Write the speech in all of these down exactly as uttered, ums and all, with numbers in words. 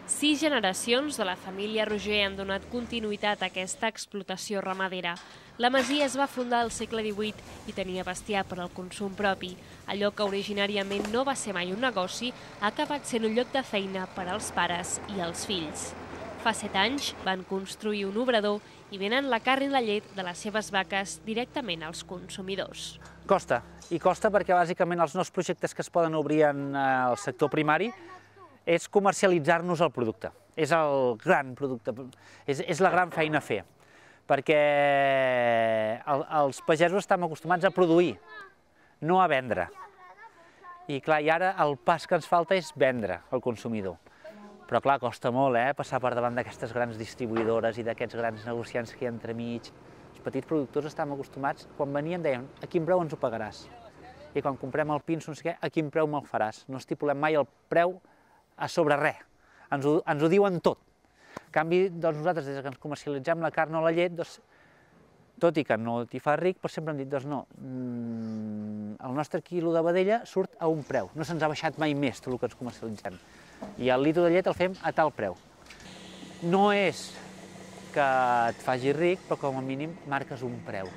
Sis generacions de la família Roger han donat continuïtat a aquesta explotació ramadera. La masia es va fundar al segle divuit i tenia bestiar per al consum propi. Allò que originàriament no va ser mai un negoci ha acabat sent un lloc de feina per als pares i els fills. Fa set anys van construir un obrador i venen la carn i la llet de les seves vaques directament als consumidors. Costa, i costa perquè bàsicament els nous projectes que es poden obrir en el sector primari és comercialitzar-nos el producte. És el gran producte, és, és la gran feina a fer, perquè el, els pagesos estem acostumats a produir, no a vendre. I clar, i ara el pas que ens falta és vendre al consumidor. Però clar, costa molt, eh, passar per davant d'aquestes grans distribuïdores i d'aquests grans negociants que hi ha entremig. Els petits productors estem acostumats, quan venien deien, a quin preu ens ho pagaràs? I quan comprem el pinso, no sé què, a quin preu me'l faràs? No estipulem mai el preu a sobre res, ens ho, ens ho diuen tot. En canvi, doncs, nosaltres, des que ens comercialitzem la carn o la llet, doncs, tot i que no t'hi fa ric, però sempre hem dit, doncs no, el nostre quilo de vedella surt a un preu, no se'ns ha baixat mai més tot el que ens comercialitzem. I el litro de llet el fem a tal preu. No és que et faci ric, però com a mínim marques un preu.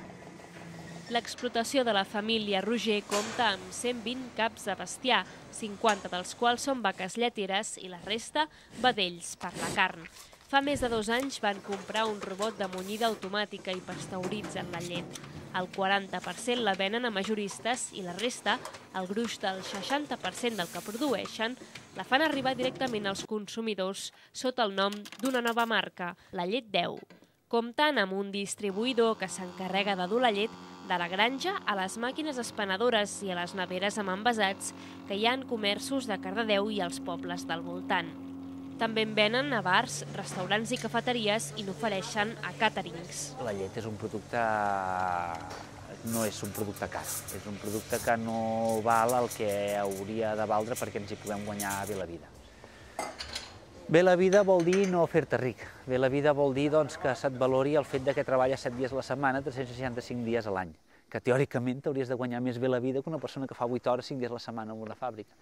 L'explotació de la família Roger compta amb cent vint caps de bestiar, cinquanta dels quals són vaques lleteres i la resta vedells per la carn. Fa més de dos anys van comprar un robot de munyida automàtica i pasteuritzen la llet. El quaranta per cent la venen a majoristes i la resta, el gruix del seixanta per cent del que produeixen, la fan arribar directament als consumidors sota el nom d'una nova marca, la Llet deu. Comptant amb un distribuïdor que s'encarrega de dur la llet de la granja a les màquines espanadores i a les neveres amb envasats que hi ha en comerços de Cardedeu i els pobles del voltant. També en venen a bars, restaurants i cafeteries i n'ofereixen a càterings. La llet és un producte, no és un producte car, és un producte que no val el que hauria de valdre perquè ens hi puguem guanyar bé la vida. Bé la vida vol dir no fer-te ric. Bé la vida vol dir doncs, que se't valori el fet que treballes set dies a la setmana, tres-cents seixanta-cinc dies a l'any, que teòricament t'hauries de guanyar més bé la vida que una persona que fa vuit hores, cinc dies a la setmana en una fàbrica.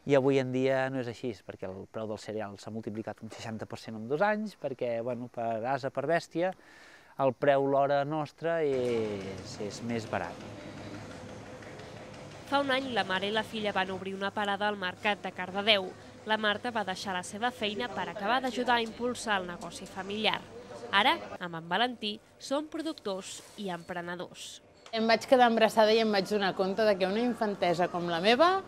I avui en dia no és així, perquè el preu del cereal s'ha multiplicat un seixanta per cent en dos anys, perquè bueno, per ase, per bèstia, el preu l'hora nostra és, és més barat. Fa un any la mare i la filla van obrir una parada al mercat de Cardedeu. La Marta va deixar la seva feina per acabar d'ajudar a impulsar el negoci familiar. Ara, amb en Valentí, són productors i emprenedors. Em vaig quedar embarassada i em vaig donar compte que una infantesa com la meva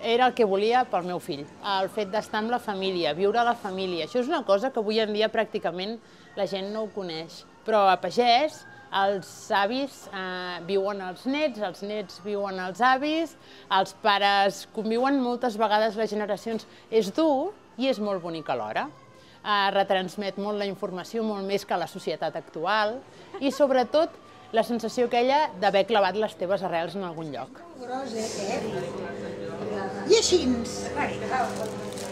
era el que volia pel meu fill. El fet d'estar amb la família, viure a la família. Això és una cosa que avui en dia pràcticament la gent no ho coneix. Però a pagès, els avis eh, viuen els nets, els nets viuen els avis, els pares conviuen moltes vegades les generacions. És dur i és molt bonic alhora. Eh, retransmet molt la informació, molt més que la societat actual, i sobretot la sensació aquella d'haver clavat les teves arrels en algun lloc. I així.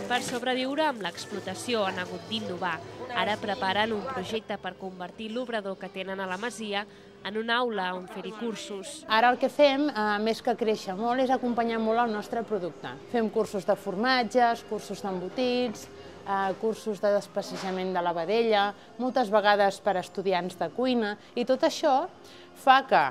Per sobreviure amb l'explotació han hagut d'innovar. Ara preparen un projecte per convertir l'obrador que tenen a la masia en una aula on fer-hi cursos. Ara el que fem, més que créixer molt, és acompanyar molt el nostre producte. Fem cursos de formatges, cursos d'embotits, cursos de despecejament de la vedella, moltes vegades per a estudiants de cuina, i tot això fa que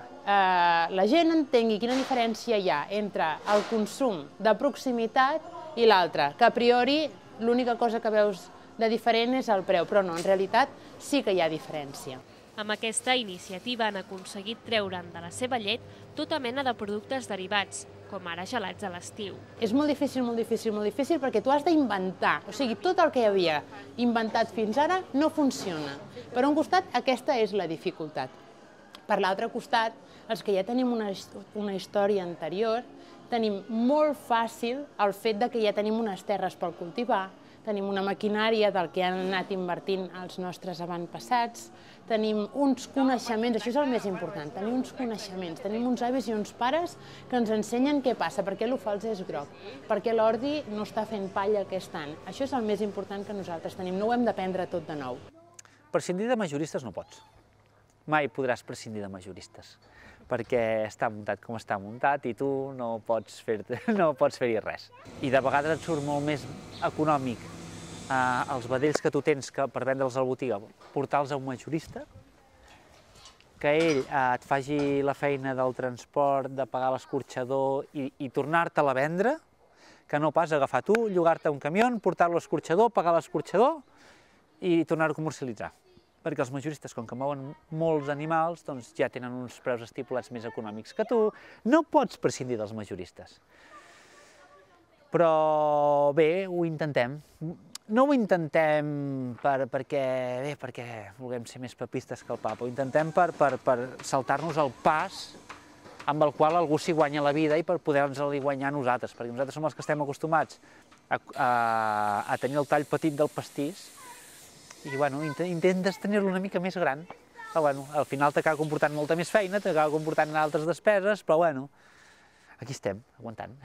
la gent entengui quina diferència hi ha entre el consum de proximitat i l'altre, que a priori l'única cosa que veus de diferent és el preu, però no, en realitat sí que hi ha diferència. Amb aquesta iniciativa han aconseguit treure'n de la seva llet tota mena de productes derivats, com ara gelats a l'estiu. És molt difícil, molt difícil, molt difícil, perquè tu has d'inventar. O sigui, tot el que hi havia inventat fins ara no funciona. Per un costat, aquesta és la dificultat. Per l'altre costat, els que ja tenim una, una història anterior, tenim molt fàcil el fet que ja tenim unes terres per cultivar, tenim una maquinària del que han anat invertint els nostres avantpassats, tenim uns coneixements, això és el més important, tenim uns coneixements, tenim uns avis i uns pares que ens ensenyen què passa, per què l'ofals és groc, per què l'ordi no està fent palla aquest any. Això és el més important que nosaltres tenim, no ho hem d'aprendre tot de nou. Prescindir de majoristes no pots. Mai podràs prescindir de majoristes, perquè està muntat com està muntat i tu no pots fer-hi res. I de vegades et surt molt més econòmic els vedells que tu tens per vendre'ls a la botiga, portar-los a un majorista, que ell et faci la feina del transport, de pagar l'escorxador i tornar-te-la a vendre, que no pas agafar tu, llogar-te un camió, portar-lo a l'escorxador, pagar l'escorxador i tornar-ho a comercialitzar. Perquè els majoristes, com que mouen molts animals, doncs ja tenen uns preus estipulats més econòmics que tu. No pots prescindir dels majoristes. Però bé, ho intentem. No ho intentem perquè vulguem ser més papistes que el papa, ho intentem per saltar-nos el pas amb el qual algú s'hi guanya la vida i per poder-nos-li guanyar a nosaltres, perquè nosaltres som els que estem acostumats a tenir el tall petit del pastís i intentes tenir-lo una mica més gran. Al final t'acaba comportant molta més feina, t'acaba comportant altres despeses, però bueno, aquí estem, aguantant.